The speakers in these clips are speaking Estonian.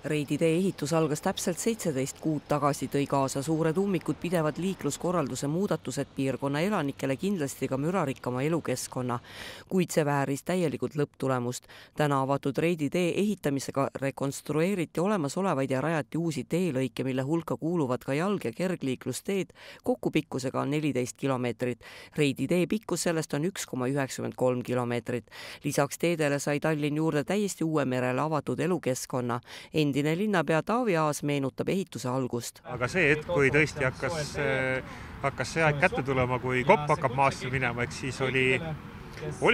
Reidi tee ehitus algas täpselt 17 kuud tagasi, tõi kaasa suured ummikud, pidevad liikluskorralduse muudatused piirkonna elanikele kindlasti ka mürarikkama elukeskkonna, kuid see vääris täielikult lõpptulemust. Täna avatud Reidi tee ehitamisega rekonstrueeriti olemasolevaid ja rajati uusi teelõike, mille hulka kuuluvad ka jalg- ja kergliiklusteed, kokku pikkusega on 14 kilomeetrit. Reidi tee pikkus sellest on 1,93 kilomeetrit. Lisaks teedele sai Tallinn juurde täiesti uue merele avatud elukeskkonna. Endine linnapea Taavi Aas meenutab ehituse algust. Aga see hetk, kui tõesti hakkas see aeg kätte tulema, kui kopp hakkab maasse minema, eks siis oli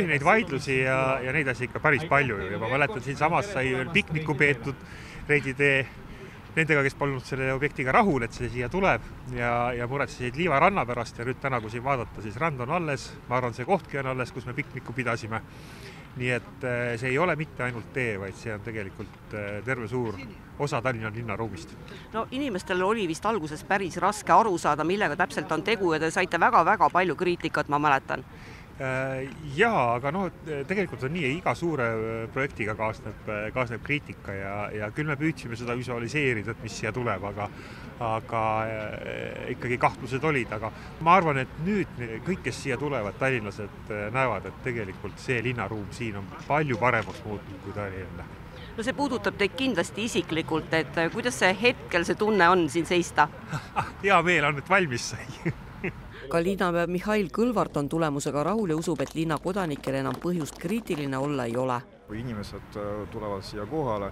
neid vaidlusi ja neid asja ikka päris palju. Ja ma mäletan, siin samas sai veel pikniku peetud Reidi tee nendega, kes polnud selle objektiga rahul, et see siia tuleb ja muretsesid Liiva ranna pärast ja nüüd täna, kui siin vaadata, siis rand on alles, ma arvan, see kohtki on alles, kus me pikniku pidasime. Nii et see ei ole mitte ainult tee, vaid see on tegelikult terve suur osa Tallinna linnaruumist. No inimestel oli vist alguses päris raske aru saada, millega täpselt on tegu ja te saite väga-väga palju kriitikat, ma mäletan. Jaa, aga tegelikult on nii, iga suure projektiga kaasneb kriitika ja küll me püüdsime seda visualiseerida, et mis siia tuleb, aga ikkagi kahtlused olid, aga ma arvan, et nüüd kõik, kes siia tulevad, tallinlased näevad, et tegelikult see linnaruum siin on palju paremaks muutunud, kui ta oli enne. No see puudutab teid kindlasti isiklikult, et kuidas see hetkel see tunne on siin seista? Hea meel on, et valmis sai. Ka linnapea Mihhail Kõlvart on tulemusega rahul ja usub, et linna kodanikel enam põhjust kriitiline olla ei ole. Kui inimesed tulevad siia kohale,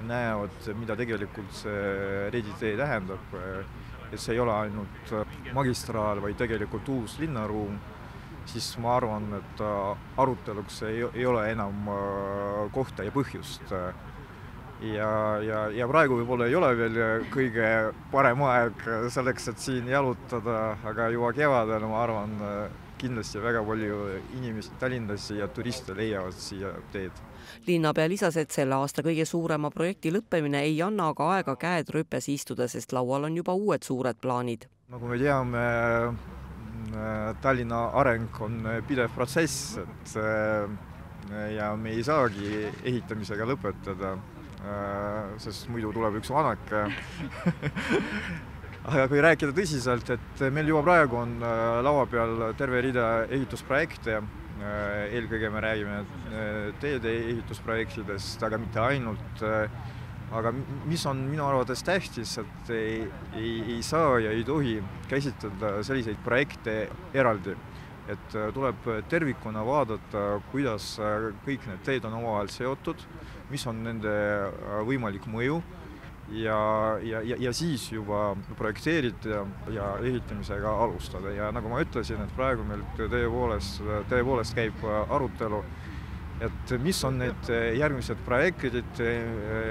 näevad, mida tegelikult see Reidi tee tähendab, et see ei ole ainult magistraal, vaid tegelikult uus linnaruum, siis ma arvan, et aruteluks ei ole enam kohta ja põhjust. Ja praegu võib-olla ei ole veel kõige parem aeg selleks, et siin jalutada, aga juba kevadel, ma arvan, kindlasti väga palju inimesi Tallinnasi ja turiste leiavad siia teed. Linnapea lisas, et selle aasta kõige suurema projekti lõppemine ei anna aga aega käed rüpes istuda, sest laual on juba uued suured plaanid. Nagu me teame, Tallinna areng on pidev protsess, ja me ei saagi ehitamisega lõpetada, sest muidu tuleb üks vanake. Aga kui rääkida tõsiselt, et meil juba praegu on laua peal terve rida ehitusprojekte, eelkõige me räägime teede ehitusprojektidest, aga mitte ainult. Aga mis on minu arvates tähtis, et ei saa ja ei tohi käsitleda selliseid projekte eraldi. Et tuleb tervikuna vaadata, kuidas kõik need teed on omavahel seotud, mis on nende võimalik mõju ja siis juba projekteerida ja ehitamisega alustada. Ja nagu ma ütlesin, et praegu meil tõepoolest käib arutelu, et mis on need järgmised projektid,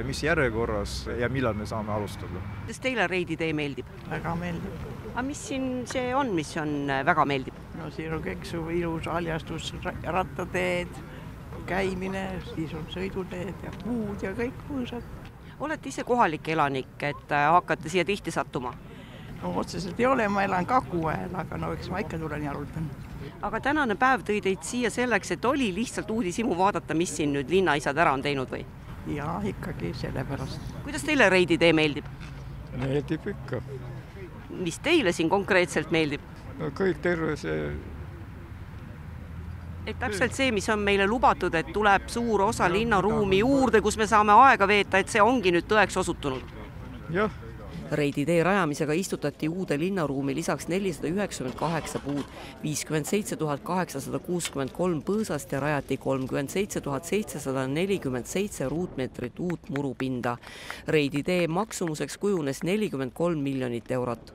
mis järjekorras ja millal me saame alustada. Kas teile Reidi tee meeldib? Väga meeldib. Aga mis siin see on, mis on väga meeldib? No siin on kõik ilus haljastus, rattateed, käimine, siis on sõiduteed ja puud ja kõik mõõsad. Olete ise kohalik elanik, et hakkate siia tihti sattuma? No otseselt ei ole, ma elan Kagu-Äel, aga eks ma ikka tulen jalutan. Aga tänane päev tõi teid siia selleks, et oli lihtsalt uudishimu vaadata, mis siin nüüd linnaisad ära on teinud või? Jaa, ikkagi sellepärast. Kuidas teile Reidi tee meeldib? Meeldib ikka. Mis teile siin konkreetselt meeldib? No kõik terve see... Et täpselt see, mis on meile lubatud, et tuleb suur osa linnaruumi juurde, kus me saame aega veeta, et see ongi nüüd tõeks osutunud. Jah. Reidi tee rajamisega istutati uude linnaruumi lisaks 498 puud, 57 863 põõsast ja rajati 37 747 ruutmeetrit uut murupinda. Reidi tee maksumuseks kujunes 43 miljonit eurot.